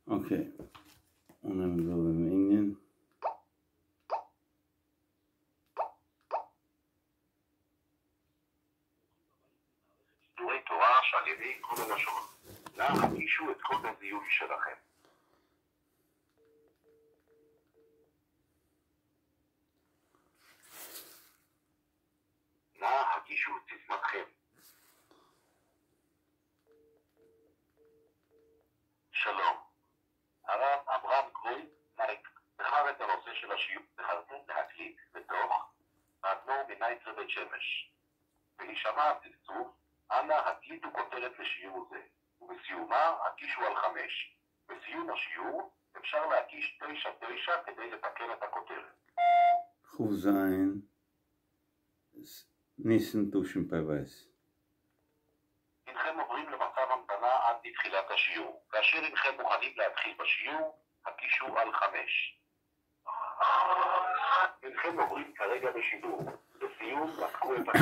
אקעי, אנהייבן דא דעם ענין. שיעורי תורה שעל ידי כל הלשון, נא הגישו את קוד הזיהוי שלכם. נא הגישו את סיסמתכם. שלום, הרב אברהם קרויז בחר את הנושא של השיעור בחרתם להקליט בתוך האדמו"ר מנייטרא בית שמש. בהישמע הצפצוף, אנא הקליטו כותרת לשיעור זה, ובסיומה הקישו על 5. בסיום השיעור אפשר להקיש 9 9 כדי לתקן את הכותרת. כ"ז ניסן תשפ"ב. הנכם עוברים למצב המתנה עד לתחילת השיעור. כאשר הנכם מוכנים להתחיל בשיעור, הקישו על 5. הנכם עוברים כרגע בשידור. לסיום, נתקו את הקו.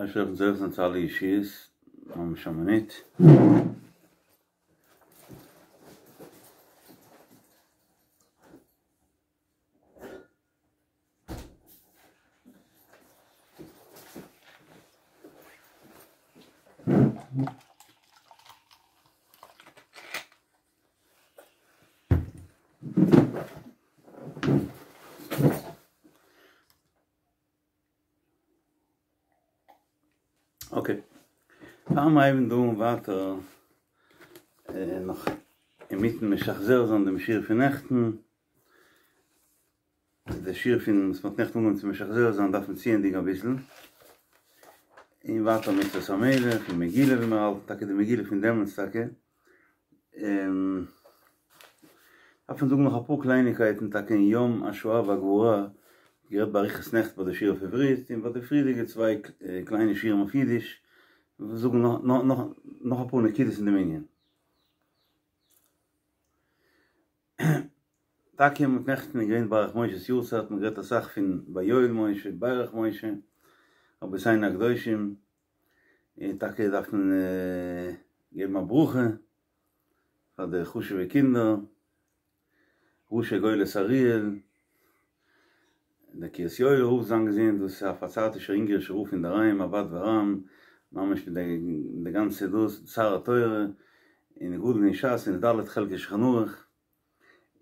אשר זאב זצ"ל אישיס, ממש אמנית. אקעי, פאר מיר הייבן דא אן ווייטער נאך אינמיטן משחזר זיין דעם שיעור פון נעכטן, די שיעור פון וואס מ'האט נעכטן אנגעהויבן צו משחזר זיין דארף מען צוענדיגן אביסל, און ווייטער מצוות המלך און מגילה ווי מיר האלטן טאקע די מגילה פון דעמאלטס טאקע, דארף מען זאגן נאך אפאר קלייניקייטן טאקע אין יום השואה והגבורה, גערעדט באריכות נעכטן ביי די שיעור אויף עברית און ביי די פריערדיגע צוויי קליינע שיעורים אויף אידיש, זאגן נאך אפאר נקודות אין דעם ענין. טאקע מיט נעכטן איז געווען ברך משה'ס יארצייט, מ'האט גערעדט אסאך פון ויואל משה, ברך משה, רבותינו הקדושים, און טאקע דארף מען געבן א ברכה פאר די חשוב'ע קינדער, ראשי גולת אריאל, דער קרית יואל'ער רב זיין געזונט, דאס איז א פארצייטישער אונגערישער רב אינדערהיים, א בד ורם, ממש מיט די גאנצע דאס, שר התורה, און גדול אין ש"ס און ד' חלקי שולחן ערוך,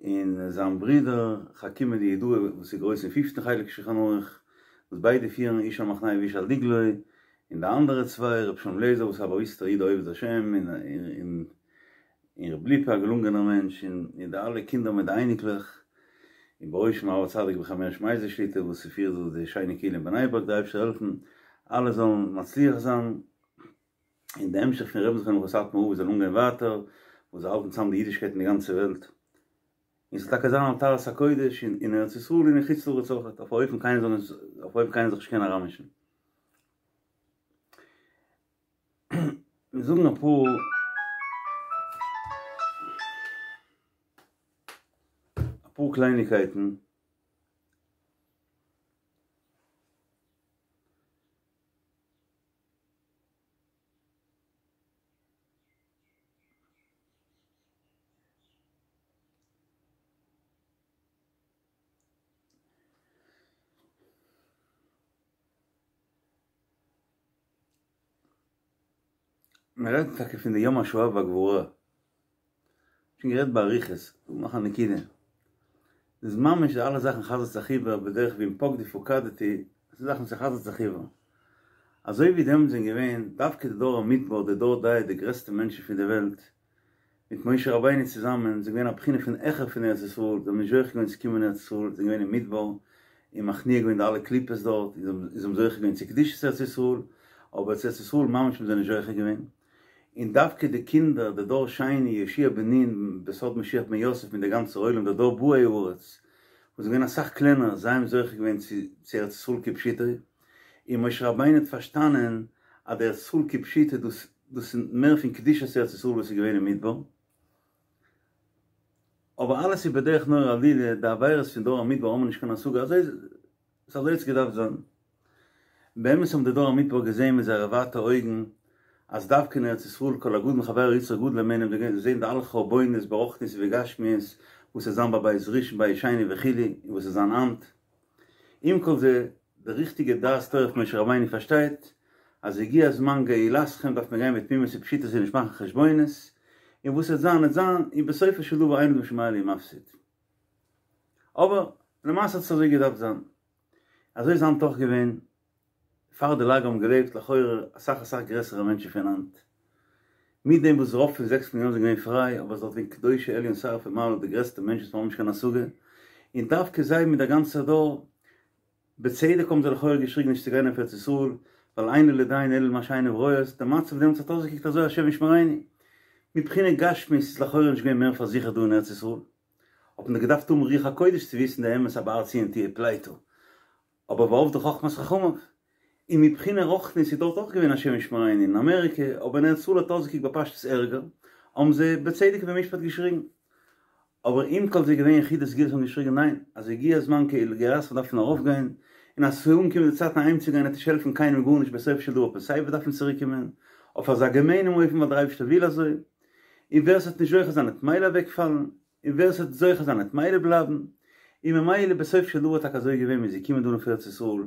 און זיין ברודער חכימא דיהודאי וואס איז גרויס אין פיפטן חלק שולחן ערוך, וואס ביידע פירן איש על מחנהו ואיש על דגלו, און די אנדערע צוויי, ר' שלום לעזער וואס איז א באוויסטער איד א עובד השם, און און ר' ליפא א געלונגענער מענטש, און די אלע קינדער מיט די אייניקלעך, און בראשם הרב הצדיק רבי חיים הערש מייזליש שליט"א וואס פירט דא די שיינע קהילה אין בני ברק, די אייבערשטער זאל העלפן אלע זאלן מצליח זיין, און די המשך פון רבי'ן זכרונו לברכה סאטמאר רב זאל אנגיין ווייטער, וואס זיי האלטן צאם די אידישקייט אין די גאנצע וועלט, און ס'זאל טאקע זיין על טהרת הקודש אין ארץ ישראל און אין חוץ לארץ אויכעט, אויף א אופן קיינער זאל נישט, אויף א אופן קיינער זאל זיך נישט קענען אריינמישן. מיר זאגן אפאר אפאר קלייניקייטן. מען רעדט טאקע פון די יום השואה והגבורה, שוין גערעדט באריכות, דא נאך א נקודה, ס'איז ממש די אלע זאכן חזר'ט זיך איבער בדרך ווי אם פקדי פקדתי, עס איז זאכן וואס חזר'ט זיך איבער, אזוי ווי דעמאלטס זענען געווען דווקא די דור המדבר, די דור דעה, די גרעסטע מענטשן פון די וועלט, מיט משה רבינו צוזאמען, זענען געווען א בחינה פון העכער פון ארץ ישראל, זיי האבן נישט זוכה געווען צו קומען אין ארץ ישראל, זיי זענען געווען אין מדבר, און מכניע געווען די אלע קליפות דארט, און זיי האבן זוכה געווען צו קדושת ארץ ישראל, אבער צו ארץ ישראל ממש האבן זיי נישט זוכה געווען. און דווקא די קינדער, די דור שני, יהושע בן נון, בסוד משיח בן יוסף מיט די גאנצע עולם, די דור באי הארץ, וואס זענען געווען אסאך קלענער, זיי האבן זוכה געווען צו ארץ ישראל כפשוטו, און משה רבינו האט פארשטאנען אז די ארץ ישראל כפשוטו דאס דאס איז מער פון קדושת ארץ ישראל וואס איז געווען אין מדבר, אבער אלעס איז בדרך נורא עלילה, די עבירות פון דור המדבר האבן מיר נישט קיין השגה, אזוי איז אזוי האט עס געדארפט זיין. באמת האבן די דור המדבר געזען מיט זייערע ווייטע אויגן. אז דווקא אין ארץ ישראל כל הגדול מחבירו יצרו גדול הימנו מ'וועט זען די אלע חורבנות ברוחניות ובגשמיות וואס וועט זיין ביי בית ראשון בית שני וכו' און וואס וועט זיין היינט. עם כל זה, די ריכטיגע דעת תורה פון משה רבינו פארשטייט אז הגיע זמן גאולתכם דארף מען גיין בתמימות ופשיטות און נישט מאכן חשבונות, און וואס וועט זיין וועט זיין, און בסופו של דבר אין אדם שומע לי ומפסיד. אבער למעשה האט עס אזוי געדארפט זיין. אזוי איז היינט אויך געווען, פאר די לאגער האבן געלעבט לכאורה אסאך אסאך גרעסערע מענטשן פון היינט. מיט דעם וואס רוב פון זעקס מיליאן זענען געווען פריי, אבער עס איז דארט געווען קדושי עליון שרפי מעלה די גרעסטע מענטשן וואס מיר האבן נישט קיין השגה, און דווקא זיי מיט דער גאנצער דור, בצדק האבן זיי לכאורה געשריגן נישט צו גיין אויף ארץ ישראל, ווייל אין לו לדיין אלא למה שעיניו רואות, דער מצב דעמאלטס האט אויסגעקוקט אזוי השם ישמרינו. מבחינה גשמית איז לכאורה נישט געווען מער פארזיכערט דא אין ארץ ישראל, האט מען געדארפט האבן רוח הקודש צו וויסן די אמת אז בהר ציון תהיה פליטה, אבער ואבדה חכמת חכמיו. און מבחינה רוחנית איז דארט אויך געווען השם ישמרינו אין אמעריקע, אבער אין ארץ ישראל האט אויסגעקוקט בפשטות ערגער, האבן זיי בצדק ובמשפט געשריגן. אבער עם כל זה געווען יחידי סגולה וואס האבן געשריגן ניין, אז הגיע הזמן לגאולתכם דארף מען ארויפגיין, און אז ס'איז אנגעקומען די צייט אהיימצוגיין וועט נישט העלפן קיינעם גארנישט בסופו של דבר וועט מען סייווי דארפן צוריקקומען, אויף אזא געמיינעם אופן ווייל דער אייבערשטער וויל אזוי, און ווער ס'וועט נישט זוכה זיין וועט מילא אוועקפאלן. און ווער ס'וועט זוכה זיין וועט מילא בלייבן, און ממילא בסוף של דבר טאקע אזוי געווען מ'איז געקומען דא אויף ארץ ישראל,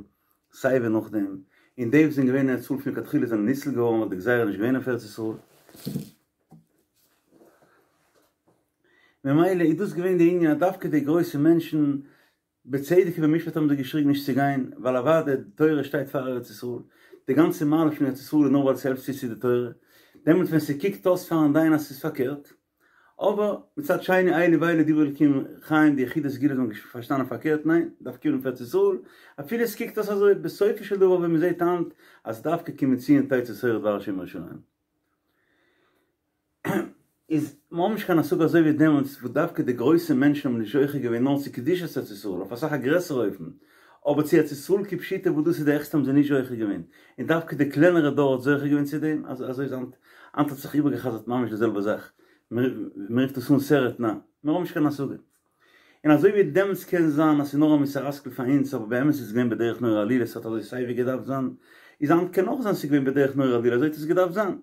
סיי ווי נאכדעם, און די וואס זענען געווען אין ארץ ישראל פון לכתחילה זענען ניצל געווארן ווייל די גזירה איז נישט געווען אויף ארץ ישראל. ממילא איז דאס געווען די ענין אז דווקא די גרויסע מענטשן בצדק ובמשפט האבן זיי געשריגן נישט צו גיין, ווייל אוודאי די תורה שטייט פאר ארץ ישראל, די גאנצע מעלה פון ארץ ישראל איז נאר ווייל ס'העלפט צו צו די תורה, דעמאלט ווען ס'קוקט אויס פארן דיין אז ס'איז פארקערט, אבער מצד שני אלו ואלו דברי אלקים חיים די יחידי סגולה האבן פארשטאנען פארקערט ניין, דארף קומען אויף ארץ ישראל, אפילו עס קוקט אויס אזוי, בסופו של דבר ווען מ'זעט היינט אז דווקא כי מציון תצא תורה ודבר השם מירושלים. איז מ'האבן נישט קיין השגה אזוי ווי דעמאלטס וואס דווקא די גרויסע מענטשן האבן נישט זוכה געווען נאר צו קדושת ארץ ישראל אויף אסאך א גרעסערע אופן, אבער צו ארץ ישראל כפשוטו וואס דאס איז די העכסטע האבן זיי נישט זוכה געווען, און דווקא די קלענערע דור האט זוכה געווען צו דעם, אזוי איז היינט, היינט האט זיך איבערגעחזרט ממש די זעלבע זאך, מ'רופט עס אן סרט נע, מיר האבן נישט קיין השגה. און אזוי ווי דעמאלטס קען זיין אז ס'איז נאר א מוסר השכל פאר אונז אבער באמת איז עס געווען בדרך נורא עלילה ס'האט אזוי סייווי געדארפט זיין, איז היינט קען אויך זיין ס'איז געווען בדרך נורא עלילה אזוי האט עס געדארפט זיין.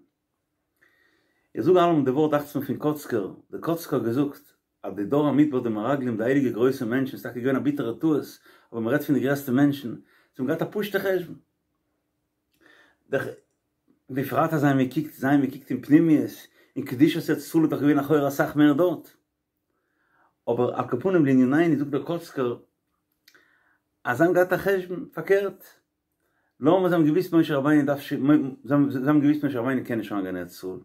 איך זאג אלעמאל די ווארט דאכט זיך מיר פון קאצקער, דער קאצקער האט געזאגט אז די דור המדבר די מרגלים די הייליגע גרויסע מענטשן ס'איז טאקע געווען א ביטערע טעות אבער מ'רעדט פון די גרעסטע מענטשן זיי האבן געהאט א פשוטע חשבון דער בפרט אז זיי האבן געקוקט זיי האבן געקוקט אין פנימיות אין קדושת ארץ ישראל איז דאך געווען לכאורה אסאך מער דארט אבער על כל פנים לענינינו זאגט דער קאצקער אז זיי האבן געהאט א חשבון פארקערט לאמיר זיי האבן געוויסט משה רבינו דארף ש זיי האבן געוויסט משה רבינו קען נישט אריינגיין אין ארץ ישראל,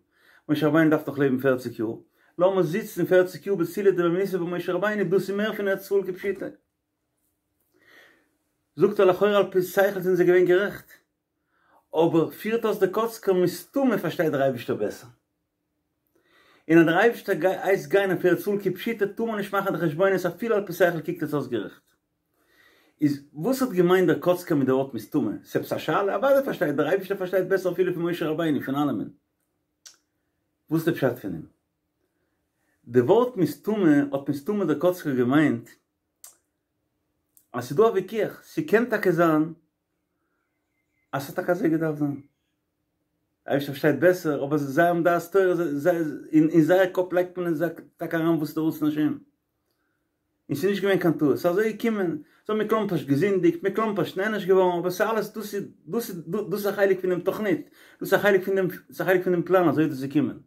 משה רבינו דארף נאך לעבן פערציג יאר, לאמיר זיצן פערציג יאר בצילא דמהימנותא ביי משה רבינו, דאס איז מער פון ארץ ישראל כפשוטו. זאגט ער לכאורה על פי שכל זענען זיי געווען גערעכט, אבער פירט אויס דער קאצקער מסתמא פארשטייט דער אייבישטער בעסער. און אז דער אייבערשטער הייסט גיין אויף ארץ ישראל כפשוטו טאר מען נישט מאכן די חשבונות אפילו על פי שכל קוקט עס אויס גערעכט. איז וואס האט געמיינט דער קאצקער מיט די ווארט מסתמא? ס'עפעס א שאלה? אוודאי פארשטייט דער אייבערשטער פארשטייט בעסער אפילו פון משה רבינו פון אלעמען. וואס איז די פשט פון דעם? די ווארט מסתמא האט מסתמא דער קאצקער געמיינט אז ס'דא א וויכוח, ס'קען טאקע זיין אז ס'האט טאקע אזוי געדארפט זיין. אייבערשטער פארשטייט בעסער, אבער זיי האבן דעת תורה, זיי, אין זייער קאפ לייגט מען עס טאקע אריין וואס איז די רצון השם. און ס'איז נישט געווען קיין טעות, ס'איז אזוי געקומען, זיי האבן מכלומפערשט געזינדיגט, מכלומפערשט נענש געווארן, אבער ס'איז אלעס, דאס איז, דאס איז, דאס איז א חלק פונעם תוכנית, דאס איז א חלק פון דעם, ס'איז א חלק פון דעם פלאן, אזוי איז דאס געקומען.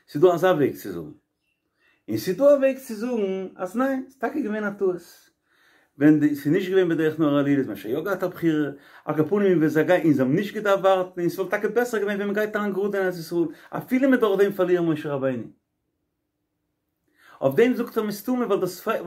ס'איז דא אזא וועג צו זאגן. און ס'איז דא א וועג צו זאגן אז ניין, ס'איז טאקע געווען א טעות. ווען די, ס'איז נישט געווען בדרך נורא עלילה איז מען שוין יא געהאט א בחירה, על כל פנים ווען זיי גייען, און זיי האבן נישט געדארפט ווארטן, און ס'וואלט טאקע בעסער געווען ווען מ'גייט אריין גראד אין ארץ ישראל, אפילו מ'וועט דורך דעם פארלירן משה רבינו. אויף דעם זאגט ער מסתמא ווייל דאס ווייל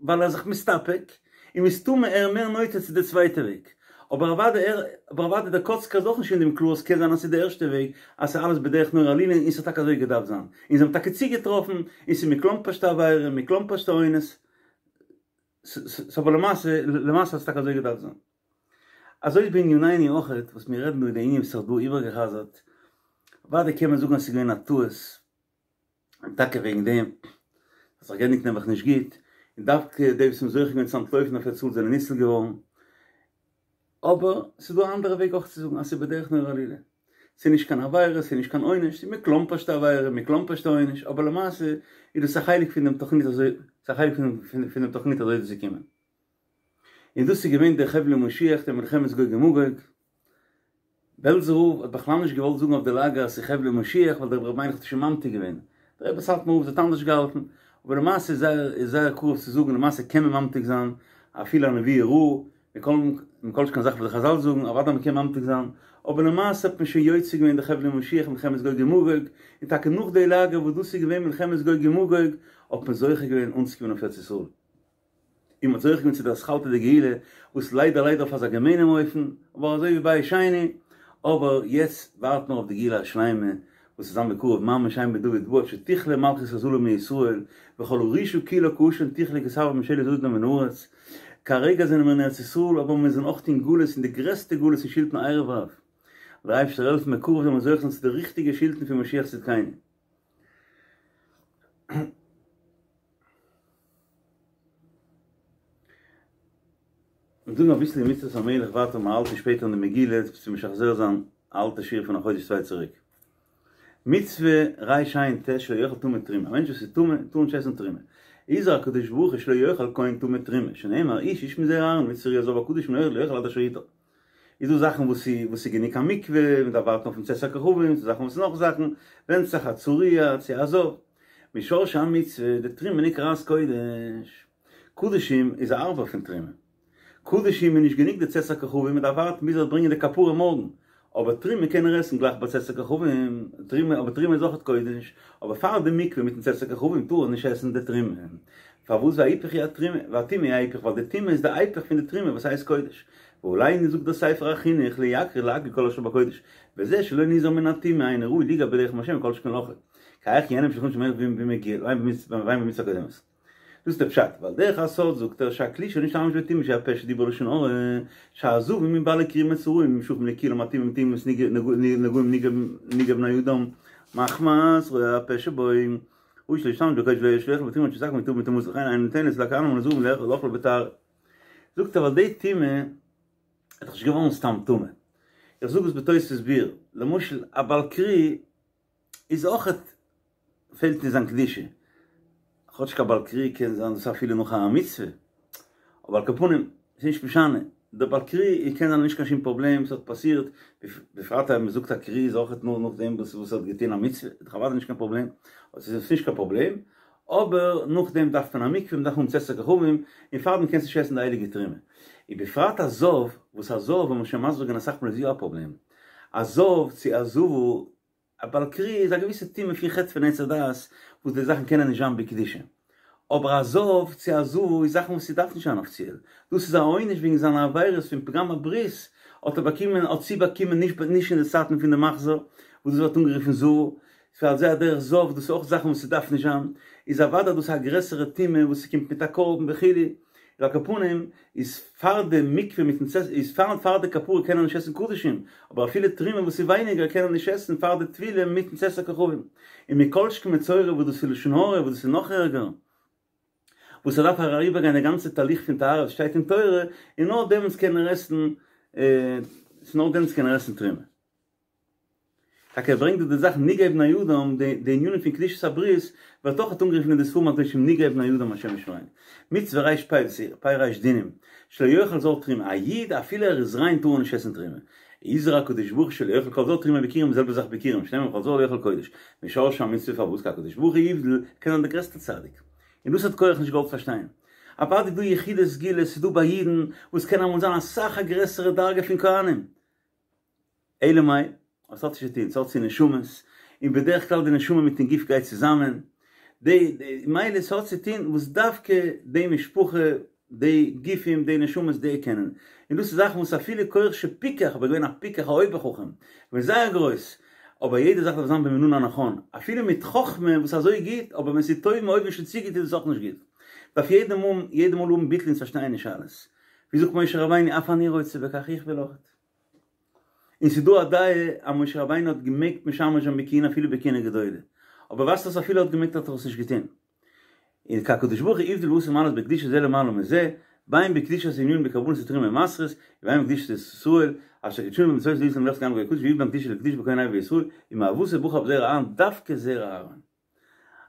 ווייל ער איז זיך מסתפק, און מסתמא ער מער נוטה צו די צווייטע וועג. אבער אוודאי ער, אבער אוודאי דער קאצקער איז אויך נישט אין דעם קלאר, ס'קען זיין אז ס'איז די ערשטע וועג, אז ס'איז אלעס בדרך נורא עלילה און ס'האט טאקע אזוי געדארפט זיין. און זיי האבן טאקע צוגעטראפן, און ס'איז מכלומפערשטע עבירה, מכלומפערשטע אונס, ס'איז אבער למעשה, למעשה האט עס טאקע אזוי געדארפט זיין. אזוי איז בענינינו אויכעט, וואס מיר רעדן דא אין די ענין וואס זיך דא איבערגעחזרט, אוודאי קען מען זאגן אז ס'איז געווען א טעות, און טאקע וועגן דעם האט זיך געענדיגט נעבעך נישט גוט, און דווקא די וואס האבן זוכה געווען צו אנטלויפן אויף ארץ ישראל זענען ניצול געווארן, אבער ס'איז דא א אנדערע וועג אויך צו זאגן אז ס'איז בדרך נורא עלילה. ס'איז נישט קיין עבירה, ס'איז נישט קיין עונש, ס'איז מכלומפערשטע עבירה, מכלומפערשטע עונש, אבער למעשה איז דאס א חלק פון דעם תוכנית אזוי, ס'איז א חלק פון דעם תוכנית אזוי איז דאס געקומען. און דאס איז געווען דער חבלי משיח, דער מלחמת גוג ומגוג. בעלזער רב האט בכלל נישט געוואלט זאגן אויף די לאגער אז ס'איז חבלי משיח ווייל דער רבי ר' מיילך האט שוין ממתיק געווען. דער רבי סאטמאר רב האט אנדערש געהאלטן. אבער למעשה איז זייער איז זייער קרוב צו זאגן למעשה קען מען ממתיק זיין אפילו א נבואה רעה, מכל מכל שכן זאכן וואס די חזל זאגן, אוודאי מ'קען ממתיק זיין, אבער למעשה האט מען שוין יוצא געווען די חבלי משיח מלחמת גוג ומגוג, און טאקע נאך די לאגער וואס דאס איז געווען מלחמת גוג ומגוג האט מען זוכה געווען אנצוקומען אויף ארץ ישראל. און מ'האט זוכה געווען צו די אתחלתא דגאולה, וואס ליידער ליידער אויף אזא געמיינעם אופן, אבער אזוי ווי בית שני, אבער יעצט ווארט מען אויף די גאולה השלימה, וואס וועט זיין בקרוב ממש אם בן דוד בא עד שתכלה מלכות הזלה מישראל, וכל הרשעה כולה כעשן תכלה כי תעבור ממשלת זדון מן הארץ. כרגע זענען מיר אין ארץ ישראל, אבער מיר זענען אויך אין גלות, אין די גרעסטע גלות אין שלטון ערב רב. דער אייבערשטער העלפן בקרוב זאל מען זוכה זיין צו די ריכטיגע שלטון פון משיח צדקינו. מיר זאגן אביסל אין מצוות המלך ווייטער מיר האלטן שפעטער אין די מגילה צו משחזר זיין א אלטע שיעור פון א חודש צוויי צוריק. מצוה רע"ט שלא יאכל טמא תרומה, א מענטש וואס איז טמא טאר נישט עסן תרומה. הזהיר הקדוש ברוך הוא שלא יאכל כהן טמא תרומה, שנאמר איש איש מזרע אהרן מצוה ראיית זב הקדוש מן האוכל לא יאכל עד אשר יטהר. איז דא זאכן וואס איז וואס איז גענוג א מקווה, מען דארף ווארטן אויפן צאת הכוכבים, ס'דא זאכן וואס נאך זאכן, ווענדט זיך א צרוע צו א זב. משרשי המצוה, דתרומה נקראת קודש. קדשים איז הארבער פון תרומה. קדשים איז נישט גענוג די צאת הכוכבים, מען דארף ווארטן ביז ער וועט ברענגען די כפרה מארגן. אבער תרומה קען ער עסן גלייך ביי צאת הכוכבים, תרומה, אבער תרומה איז אויכעט קודש, אבער פאר די מקווה מיטן צאת הכוכבים טאר ער נישט עסן די תרומה. פארוואס וההיפך הוא התרומה, והטומאה היא ההיפך, ווייל די טומאה איז די היפך פון די תרומה וואס הייסט קודש. ועלינו זאגט דער ספר החינוך ליכר ולהגדיל כל אשר בקודש, וזה שלא נזהר מן הטומאה אינו ראוי ליגע בלחם השם כל שכן לאכול. כי היכי ייהנה משולחנו של מלך ועיין במצוה הקודמת. דאס איז דער פשט, ועל דרך הסוד זאגט ער שהכלי שנשתמש בטומאה שהוא הפה שדיבר לשון הרע, שהזבים ובעלי קרי ומצורעים נמשכים לכולם הטומאים טומאת נגעים נגעי בני אדם מחמת רוע הפה שבו ראוי שלא ישתמש בקודש שלא יאכל בתרומה עד שיתקן ויטהר מטומאתו לכן אינה ניתנת לכהנים ולנזירים לאכלה בטהרה. זאגט ער ווייל די טומאה איז דאך נישט געווארן סתם טמא. איך זאג עס בתוספות ביאור, למשל א בעל קרי איז אויכעט פעלט אין זיין קדושה, כאטשיג א בעל קרי קען זיין דאס אפילו נאך א מצוה, אבער על כל פנים ס'איז נישט משנה, דער בעל קרי קען זיין נישט קיין שום פראבלעם, ס'האט פאסירט, בפרט אז מ'זאגט א קרי איז אויכעט נאר נאכדעם וואס וואס ער האט געטון א מצוה, איז דאך אוודאי נישט קיין פראבלעם, אבער ס'איז נישט קיין פראבלעם, אבער נאכדעם דארף מען א מקווה, מ'דארף האבן צאת הכוכבים, און פארדעם קענסטו נישט עסן די הייליגע תרומה. ובפרט א זב, וואס א זב האבן מיר שוין מסביר געווען אסאך מאל איז יא א פראבלעם, א זב צו א זבה א בעל קרי איז א געוויסע טומאה פון חטא פון עץ הדעת וואס די זאכן קענען נישט זיין בקדושה. אבער א זב צו א זבה איז זאכן וואס ס'דארף נישט זיין אפיציעל. דאס איז א עונש וועגן זיינע עבירות פון פגם הברית האט ער באקומען האט זי באקומען נישט נישט אין די צייטן פון די מחזור וואס דאס ווערט אנגערופן זבה. ועל זה הדרך זב דאס איז אויך זאכן וואס ס'דארף נישט זיין. איז אוודאי דאס א גרעסערע טומאה וואס ס'קומט מיט א קרבן וכו'. על כל פנים איז פאר די מקווה מיטן צאת איז פאר פאר די כפרה קען ער נישט עסן קדשים, אבער אפילו תרומה וואס איז ווייניגער קען ער נישט עסן פאר די טבילה מיטן צאת הכוכבים. און מכל שכן מצורע וואס דאס איז לשון הרע וואס דאס איז נאך ערגער, וואס ער דארף אריבערגיין די גאנצע תהליך פון טהרה וואס שטייט אין תורה, און נאר דעמאלטס קען ער עסן, נאר דעמאלטס קען ער עסן תרומה. טאקע ער ברענגט דא די זאך נגעי בני אדם, די די ענינים פון קדושת הברית ווערט אויך אנגערופן אין די ספרים הקדושים נגעי בני אדם השם ישמרינו. מצוה ר"פ דאס איז פ' ריש דינים, שלא יאכל זר תרומה, א איד אפילו ער איז ריין טאר ער נישט עסן תרומה. הזהיר הקדוש ברוך הוא שלא יאכל כל זר תרומה ביכורים די זעלבע זאך ביכורים שנאמר וכל זר לא יאכל קודש. משרשי המצוה פארוואס כי הקדוש ברוך הוא הבדיל קען זיין דער גרעסטער צדיק. און דאס האט קרח נישט געוואלט פארשטיין. אוודאי איז דא יחידי סגולה, ס'איז דא ביי אידן וואס קען אמאל זיין אסאך א גרעסערע דרגה פון כהנים. אלא מאי, עס האט נישט צו טון, עס האט צו נשמות, און בדרך כלל די נשמה מיטן גוף גייט צוזאמען, די, מילא עס האט צו טון וואס דווקא די משפחה, די גופים, די נשמות, די קענען, און דאס איז זאכן וואס אפילו קרח שפיקח, אבער געווען א פיקח א אויבער חכם, געווען זייער גרויס, אבער יעדע זאך דארף זיין במינון הנכון, אפילו מיט חכמה וואס אזוי גוט, אבער ווען ס'איז טוב מאוד ווען שוין צו גוט איז עס אויך נישט גוט. דארף יעדע מאל, יעדע מאל האבן ביטול און פארשטיין נישט אלעס. ווי זאגט משה רבינו אף אני רוצה בכך, איך וויל אויך. און ס'איז דא א דעה אז משה רבינו האט געמעגט משמש זיין בכהונה אפילו בכהונה גדולה, אבער ווייזט אויס אפילו ער האט געמעגט האט ער עס נישט געטון. און כי הקדוש ברוך הוא הבדיל ועשה מעלות בקדושה זה למעלה מזה, בין בקדושת ענינים בקרבנות ותרומות ומעשרות, ובין בקדושת ישראל, אשר קדשנו במצוותיו להיות לנו ממלכת כהנים וגוי קדוש, ויהיו בהם קדושה לקדוש בכהן הוי בישראל, ומאבותיו בחר בזרע אהרן דווקא זרע אהרן.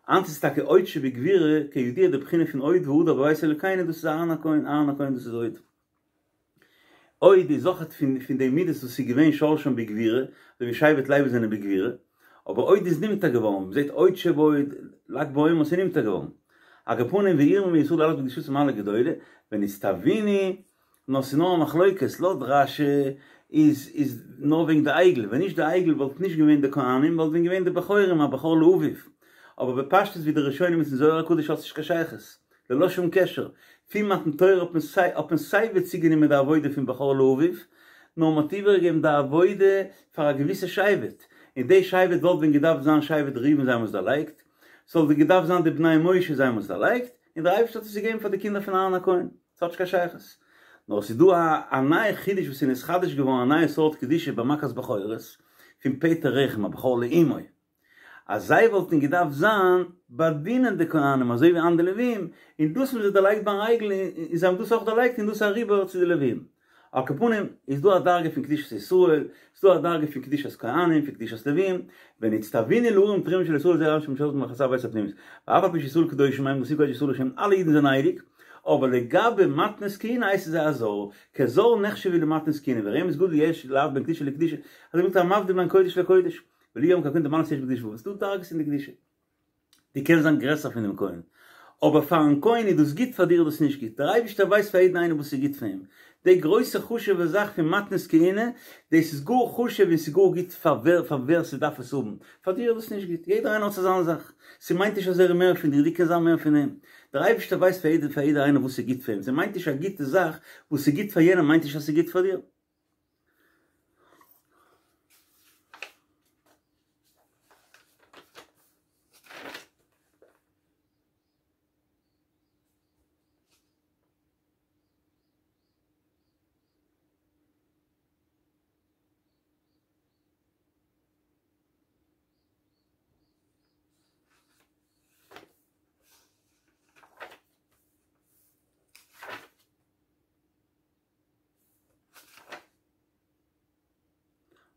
היינט איז טאקע הוד שבגבורה, כידוע די בחינה פון הוד והדר בבית אלוקינו דאס איז אהרן הכהן, אהרן הכהן דאס איז הוד. הוד איז אויכעט פון פון די מידות וואס איז געווען שורשם בגבורה, אזוי ווי שבט לוי זענען בגבורה, אבער הוד איז נמתק געווארן, מען זעט הוד שבהוד, לג בעומר ס'איז נמתק געווארן. על כל פנים וירמו מישראל להעלות בקדושתם מעלה גדולה, ונצטווינו, נאר ס'איז נאר א מחלוקת, לויט רש"י איז איז נאר וועגן די עגל, ווען נישט די עגל וואלט נישט געווען די כהנים, וואלט ווען געווען די בכורים הבכור לאביו, אבער בפשטות ווי די ראשונים איז אין זוהר הקדוש האט נישט קיין שייכות, ללא שום קשר, פון מתן תורה האט מען סיי האט מען סיי ווי צוגענומען די עבודה פון בכור לאביו, נאר מען האט איבערגעגעבן די עבודה פאר א געוויסע שבט, און די שבט וואלט ווען געדארפט זיין שבט ראובן זיי האבן עס דערלייגט, ס'וואלט ווען געדארפט זיין די בני משה זיי האבן עס דערלייגט, און דער אייבערשטער האט עס געגעבן פאר די קינדער פון אהרן הכהן, ס'האט נישט קיין שייכות. נאר ס'איז דא א א נייע חידוש וואס איז נתחדש געווארן א נייע סארט קדושה ביי מכת בכורות, פון פטר רחם הבכור לאמו. אז זיי וואלטן געדארפט זיין באדינען די כהנים אזוי ווי אנדערע לווים, און דאס האבן זיי דערלייגט ביים עגל, און זיי האבן דאס אויך דערלייגט און דאס אריבער צו די לווים. על כל פנים, איז דא א דרגה פון קדושת ישראל, איז דא א דרגה פון קדושת כהנים, פון קדושת לווים, ונצטווינו להרים תרומה של ישראל זרע אהרן שמשרתים במכסה בית הפנימית, ואף על פי שישראל קדושים הם דכתיב קודש ישראל להשם, אלע אידן זענען הייליג, אבער לגבי מתנות כהונה הייסן זיי א זר, כזר נחשבו למתנות כהונה, ורמז גדול יש להבדיל בין קדושה לקדושה, אזוי ווי מ'זאגט המבדיל בין קודש לקודש. ולא יאמרו כי הכהן די מעלות יש בקדושה ס'דא דרגות אין די קדושה. דו קענסט זיין גרעסער פון דעם כהן, אבער פארן כהן איז דאס גוט פאר דיר איז דאס נישט גוט, דער אייבערשטער ווייסט פאר יעדן איינעם וואס איז גוט פאר אים, די גרויסע חשוב'ע זאך פון מתנות כהונה, דאס איז גאר חשוב און ס'איז גאר גוט פאר ווער פאר ווער ס'דארף עס האבן, פאר דיר איז דאס נישט גוט, יעדער איינער האט זיך זיין זאך, ס'מיינט נישט אז ער איז מער פון דיר, דו קענסט זיין מער פון אים, דער אייבערשטער ווייסט פאר יעדער פאר יעדער איינער וואס איז גוט פאר אים, ס'מיינט נישט א גוטע זאך וואס איז גוט פאר יענעם מיינט נישט אז ס'איז גוט פאר דיר.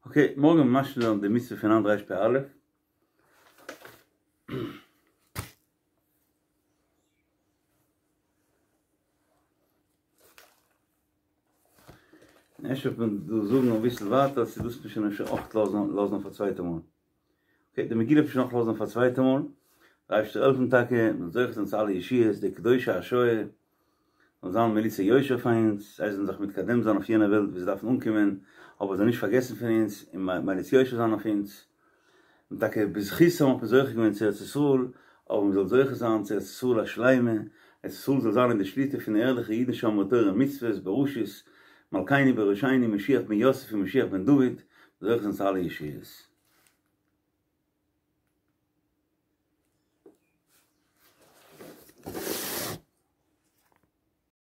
אקעי, מארגן וועלן מיר ממשיך זיין די מצוה פון היינט רפ"א. אפשר וועט מען דא זאגן אביסל ווייטער, צו דאס מוז מען שוין אפשר אויך לאזן לאזן אויף א צווייטע מאל. אקעי, די מגילה וועט מען שוין אויך לאזן אויף א צווייטע מאל. דער אייבערשטער זאל העלפן טאקע, מ'זאל זוכה זיין צו אלע ישועות, די קדושי השואה. זאל זיין מליצי יושר פאר אונז, זיי זאלן זיך מתקדם זיין אויף יענע וועלט וואו זיי דארפן אנקומען, אבער זאלן נישט פארגעסן פון אונז און מליץ יושר זיין אויף אונז, און טאקע בזכותם האט מען זוכה געווען צו ארץ ישראל, אבער מען זאל זוכה זיין צו ארץ ישראל השלימה, ארץ ישראל זאל זיין אין די שליטה פון ערליכע אידן שומרי תורה ומצוות בראשות מלכינו בראשינו משיח בן יוסף און משיח בן דוד, זוכה זיין צו אלע ישועות.